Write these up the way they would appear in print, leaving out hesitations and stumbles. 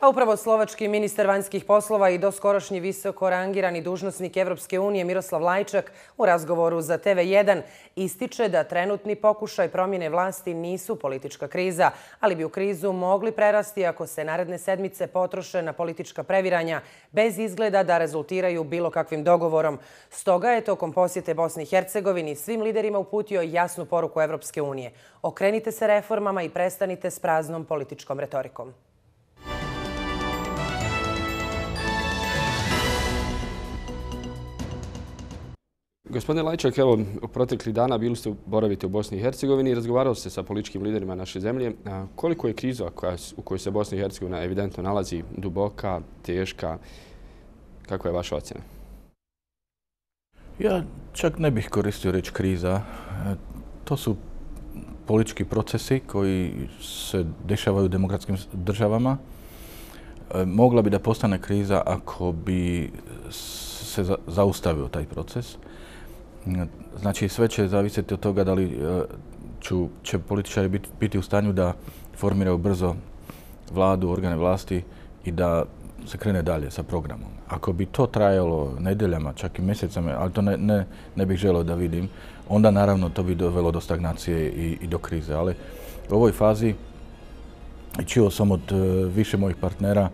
A upravo slovački ministar vanjskih poslova i doskorošnji visoko rangirani dužnosnik Evropske unije Miroslav Lajčak u razgovoru za TV1 ističe da trenutni pokušaj promjene vlasti nisu politička kriza, ali bi u krizu mogli prerasti ako se naredne sedmice potroše na politička previranja bez izgleda da rezultiraju bilo kakvim dogovorom. Stoga je tokom posjete Bosni i Hercegovini svim liderima uputio jasnu poruku Evropske unije. Okrenite se reformama i prestanite s praznom političkom retorikom. Gospodine Lajčak, evo, proteklih dana bili ste boravite u Bosni i Hercegovini i razgovarali ste sa političkim liderima naše zemlje. Koliko je kriza u kojoj se Bosna i Hercegovina evidentno nalazi duboka, teška? Kakva je vaša ocjena? Ja čak ne bih koristio riječ kriza. To su politički procesi koji se dešavaju u demokratskim državama. Mogla bi da postane kriza ako bi se zaustavio taj proces. Znači, sve će zavisiti od toga da li će političari biti u stanju da formiraju brzo vladu, organe vlasti i da se krene dalje sa programom. Ako bi to trajalo nedeljama, čak i mjesecama, ali to ne bih želio da vidim, onda naravno to bi dovelo do stagnacije i do krize. Ali u ovoj fazi čuo sam od više mojih partnera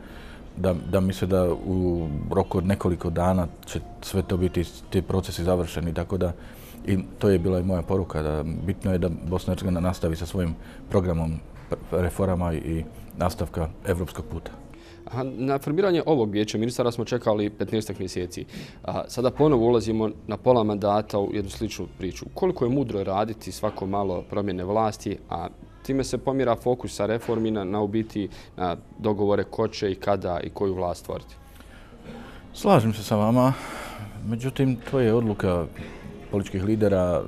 da misle da u roku od nekoliko dana će sve to biti, ti procesi završeni. Tako da, i to je bila i moja poruka, da bitno je da Bosna i Hercegovina nastavi sa svojim programom reformama i nastavka evropskog puta. Na formiranje ovog vijeća ministara smo čekali 15 mjeseci. Sada ponovo ulazimo na pola mandata u jednu sličnu priču. Koliko je mudro raditi svako malo promjene vlasti, a time se pomjera fokus sa reformi na u biti na dogovore ko će i kada i koju vlast stvoriti? Slažem se sa vama. Međutim, to je odluka političkih lidera.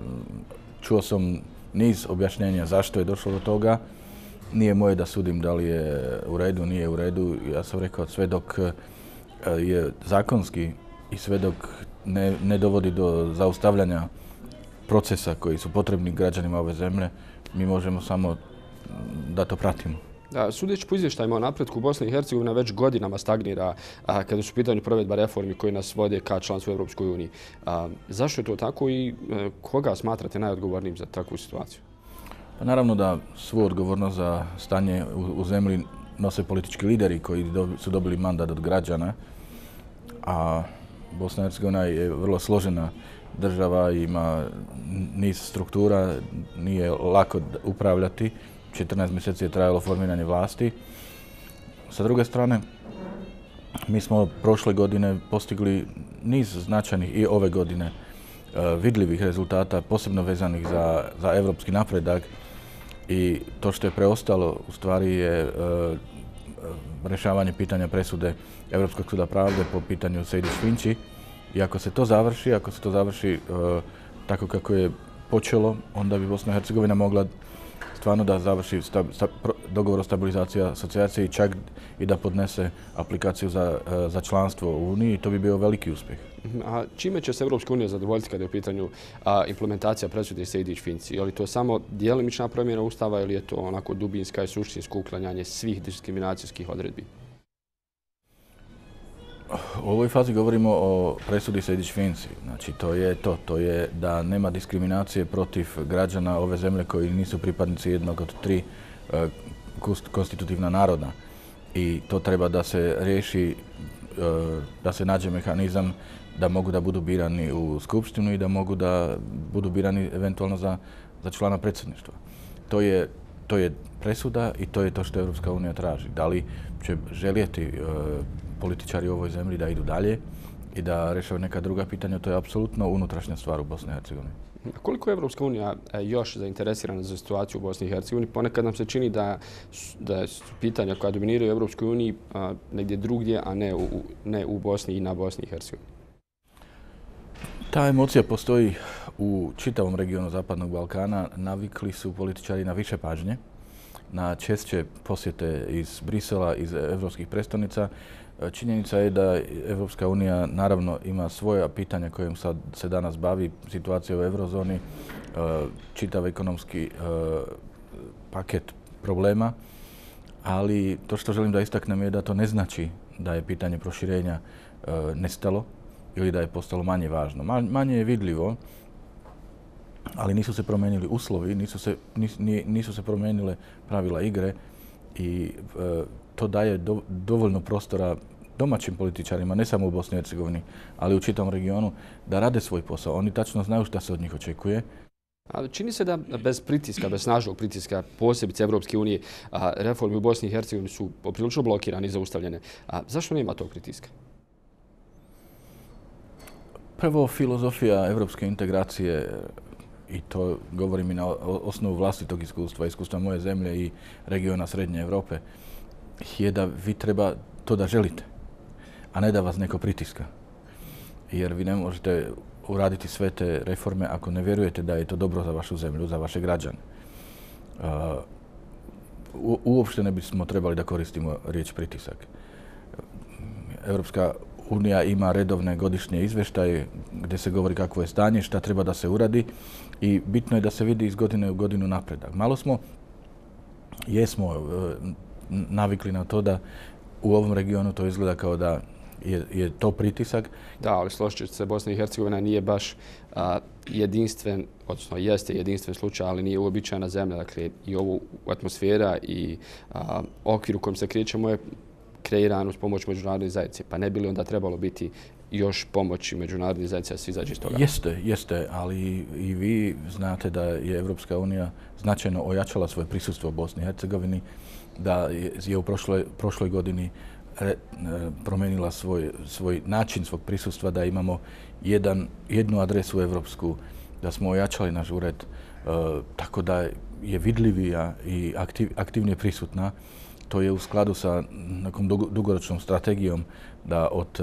Čuo sam niz objašnjenja zašto je došlo do toga. Nije moje da sudim da li je u redu, nije u redu. Ja sam rekao, sve dok je zakonski i sve dok ne dovodi do zaustavljanja procesa koji su potrebni građanima ove zemlje, mi možemo samo da to pratimo. Sudeći po izvještajima o napretku, Bosna i Hercegovina već godinama stagnira kada su u pitanju provedba reformi koje nas vode ka članstvu u Evropskoj uniji. Zašto je to tako i koga smatrate najodgovornijim za takvu situaciju? Pa naravno da svu odgovornost za stanje u zemlji nose politički lideri koji su dobili mandat od građana, a Bosna i Hercegovina je vrlo složena država, ima niz struktura, nije lako upravljati. 14 mjeseci je trajalo formiranje vlasti. Sa druge strane, mi smo prošle godine postigli niz značajnih i ove godine vidljivih rezultata, posebno vezanih za evropski napredak. I to što je preostalo u stvari je rješavanje pitanja presude Europskog suda pravde po pitanju Sejdić-Finci. I ako se to završi tako kako je počelo, onda bi Bosna i Hercegovina mogla stvarno da završi dogovor o stabilizaciji asocijacije i čak i da podnese aplikaciju za članstvo u Uniji. To bi bio veliki uspjeh. A čime će se Evropska unija zadovoljiti kada je u pitanju implementacija presude Sejdić-Finci? Je li to samo djelomična promjena Ustava ili je to onako dubinska i suštinsko uklanjanje svih diskriminacijskih odredbi? U ovoj fazi govorimo o presudi Sejdić-Finci. Znači, to je da nema diskriminacije protiv građana ove zemlje koji nisu pripadnici jednog od tri konstitutivna naroda. I to treba da se riješi, da se nađe mehanizam da mogu da budu birani u skupštinu i da mogu da budu birani eventualno za člana predsjedništva. To je presuda i to je to što Evropska unija traži. Da li će željeti političari u ovoj zemlji da idu dalje i da rješavaju neka druga pitanja, to je apsolutno unutrašnja stvar u Bosni i Hercegovini. Koliko je Evropska unija još zainteresirana za situaciju u Bosni i Hercegovini? Ponekad nam se čini da su pitanja koja dominiraju u Evropskoj uniji negdje drugdje, a ne u Bosni i na Bosni i Hercegovini. Ta emocija postoji u čitavom regionu Zapadnog Balkana. Navikli su političari na više pažnje, na češće posjete iz Brisela, iz evropskih prestolnica. Činjenica je da Evropska unija naravno ima svoja pitanja kojim se danas bavi, situacija u eurozoni, čitav ekonomski paket problema, Ali to što želim da istaknem je da to ne znači da je pitanje proširenja nestalo ili da je postalo manje važno. Manje je vidljivo, ali nisu se promijenili uslovi, nisu se promijenile pravila igre i to daje dovoljno prostora domaćim političarima, ne samo u Bosni i Hercegovini, ali u čitavom regionu, da rade svoj posao. Oni tačno znaju šta se od njih očekuje. Ali čini se da bez pritiska, bez snažnog pritiska, posebice Evropske unije, reforme u Bosni i Hercegovini su poprilično blokirane i zaustavljene. Zašto nema tog pritiska? Prvo, filozofija evropske integracije, i to govorim i na osnovu vlastitog iskustva moje zemlje i regiona Srednje Evrope, je da vi treba to da želite, a ne da vas neko pritiska. Jer vi ne možete uraditi sve te reforme ako ne vjerujete da je to dobro za vašu zemlju, za vaše građane. Uopšte ne bismo trebali da koristimo riječ pritisak. Evropska unija ima redovne godišnje izvještaje gdje se govori kakvo je stanje, šta treba da se uradi i bitno je da se vidi iz godine u godinu napredak. Malo jesmo navikli na to da u ovom regionu to izgleda kao da je to pritisak. Da, ali složit ću se, Bosna i Hercegovina nije baš jedinstven, odnosno jeste jedinstven slučaj, ali nije uobičajena zemlja. Dakle, i ovu atmosfera i okvir u kojem se krećemo je kreiran uz pomoć međunarodne zajednice. Pa ne bi li onda trebalo biti još pomoći međunarodne zajednice da se izađe iz toga? Jeste, ali i vi znate da je Evropska unija značajno ojačala svoje prisustvo u Bosni i Hercegovini, da je u prošloj godini promijenila svoj način svog prisustva, da imamo jednu adresu evropsku, da smo ojačali naš ured, tako da je vidljivija i aktivnije prisutna. To je u skladu sa nekom dugoročnom strategijom da od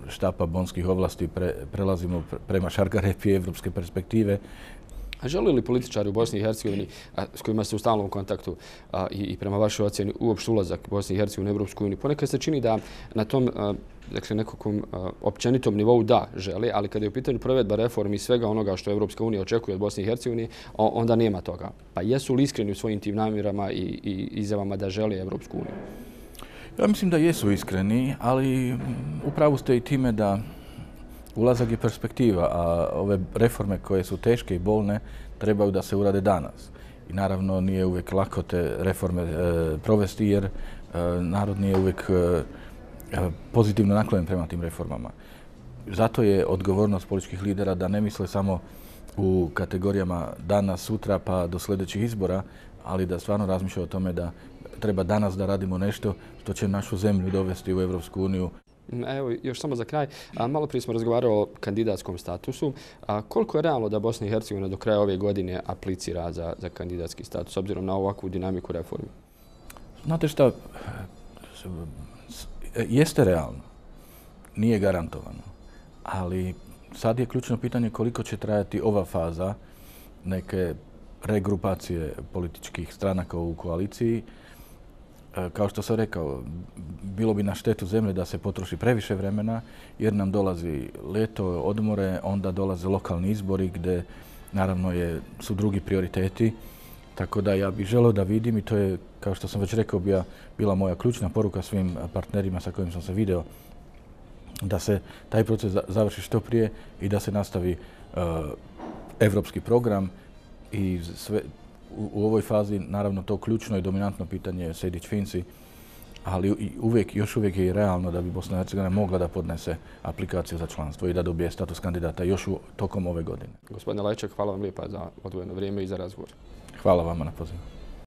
štapa bonskih ovlasti prelazimo prema šargarepi evropske perspektive. A žele li političari u Bosni i Hercegovini, s kojima ste u stalnom kontaktu i prema vašoj ocjeni uopšte ulazak Bosni i Hercegovine u Evropsku uniju, ponekad se čini da na tom nekakvom općenitom nivou da žele, ali kada je u pitanju provedba reformi i svega onoga što Evropska unija očekuje od Bosne i Hercegovine, onda nema toga. Pa jesu li iskreni u svojim tim namjerama i izjavama da žele Evropsku uniju? Ja mislim da jesu iskreni, ali upravo ste i time da ulazak je perspektiva, a ove reforme koje su teške i bolne trebaju da se urade danas. I naravno nije uvijek lako te reforme provesti jer narod nije uvijek pozitivno naklonjen prema tim reformama. Zato je odgovornost političkih lidera da ne misle samo u kategorijama danas, sutra pa do sljedećih izbora, ali da stvarno razmišljaju o tome da treba danas da radimo nešto što će našu zemlju dovesti u Evropsku uniju. Evo, još samo za kraj. Malo prije smo razgovarali o kandidatskom statusu. Koliko je realno da Bosna i Hercegovina do kraja ove godine aplicira za kandidatski status, s obzirom na ovakvu dinamiku reformi? Znate šta, jeste realno, nije garantovano, ali sad je ključno pitanje koliko će trajati ova faza neke regrupacije političkih stranaka u koaliciji. Kao što sam rekao, bilo bi na štetu zemlje da se potroši previše vremena jer nam dolazi ljeto, odmore, onda dolaze lokalni izbori gdje naravno su drugi prioriteti. Tako da ja bih želeo da vidim i to je, kao što sam već rekao, bila moja ključna poruka svim partnerima sa kojim sam se video, da se taj proces završi što prije i da se nastavi evropski program i sve. U ovoj fazi, naravno, to ključno i dominantno pitanje je Sejdić-Finci, ali još uvijek je i realno da bi Bosna i Hercegovina mogla da podnese aplikaciju za članstvo i da dobije status kandidata još tokom ove godine. Gospodine Lajčak, hvala vam lijepa za odvojeno vrijeme i za razgovor. Hvala vama na pozivu.